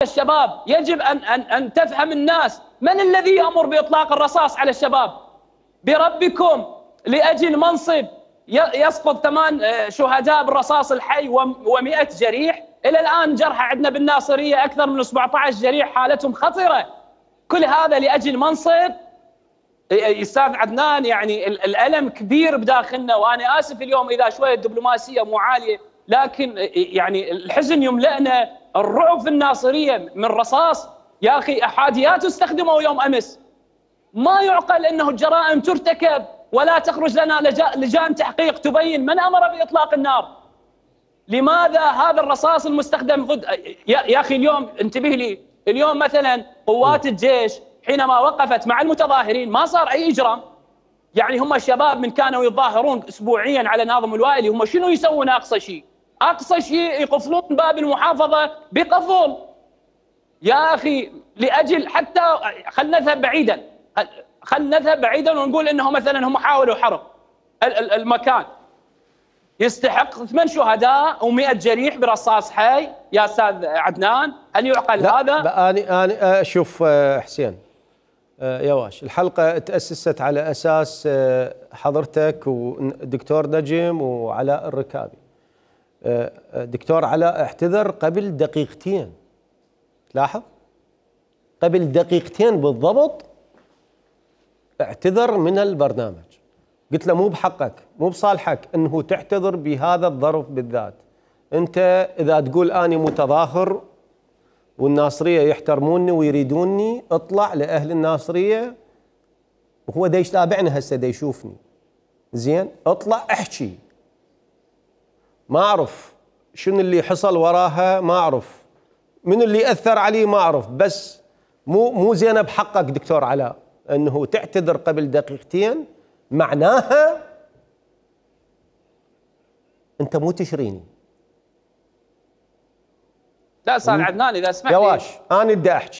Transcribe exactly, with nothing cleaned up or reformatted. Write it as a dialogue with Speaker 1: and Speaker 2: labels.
Speaker 1: الشباب، يجب أن أن أن تفهم الناس من الذي يأمر بإطلاق الرصاص على الشباب؟ بربكم لأجل منصب يسقط ثمان شهداء بالرصاص الحي ومئة جريح. إلى الآن جرحى عندنا بالناصرية أكثر من سبعة عشر جريح حالتهم خطرة. كل هذا لأجل منصب. أستاذ عدنان، يعني الألم كبير بداخلنا، وأنا آسف اليوم إذا شوية الدبلوماسية مو عالية، لكن يعني الحزن يملأنا. الرعب في الناصرية من رصاص، يا أخي أحاديات استخدموا يوم أمس. ما يعقل أنه الجرائم ترتكب ولا تخرج لنا لجان تحقيق تبين من أمر بإطلاق النار. لماذا هذا الرصاص المستخدم ضد يا أخي؟ اليوم انتبه لي، اليوم مثلا قوات الجيش حينما وقفت مع المتظاهرين ما صار أي إجرام. يعني هم الشباب من كانوا يتظاهرون أسبوعيا على ناظم الوائلي، هم شنو يسوون؟ أقصى شيء أقصى شيء يقفلون باب المحافظة بقفل. يا أخي لأجل حتى خلنا نذهب بعيدا، خلنا نذهب بعيدا ونقول إنه مثلا هم حاولوا حرق المكان، يستحق ثمان شهداء ومئة جريح برصاص حي. يا أستاذ عدنان، هل يعقل هذا؟
Speaker 2: أنا أنا شوف حسين يا واش، الحلقة تأسست على أساس حضرتك ودكتور نجم وعلاء الركابي. دكتور علاء اعتذر قبل دقيقتين، تلاحظ؟ قبل دقيقتين بالضبط اعتذر من البرنامج. قلت له مو بحقك، مو بصالحك انه تعتذر بهذا الظرف بالذات. انت اذا تقول اني متظاهر والناصريه يحترموني ويريدوني، اطلع لاهل الناصريه، وهو دا يتابعنا هسه دا يشوفني زين، اطلع احكي. ما اعرف شنو اللي حصل وراها، ما اعرف من اللي اثر عليه، ما اعرف، بس مو مو زينه بحقك دكتور علاء انه تعتذر قبل دقيقتين. معناها انت مو تشريني.
Speaker 1: لا استاذ عدنان اذا سمحت
Speaker 2: يا واش انا بدي احكي.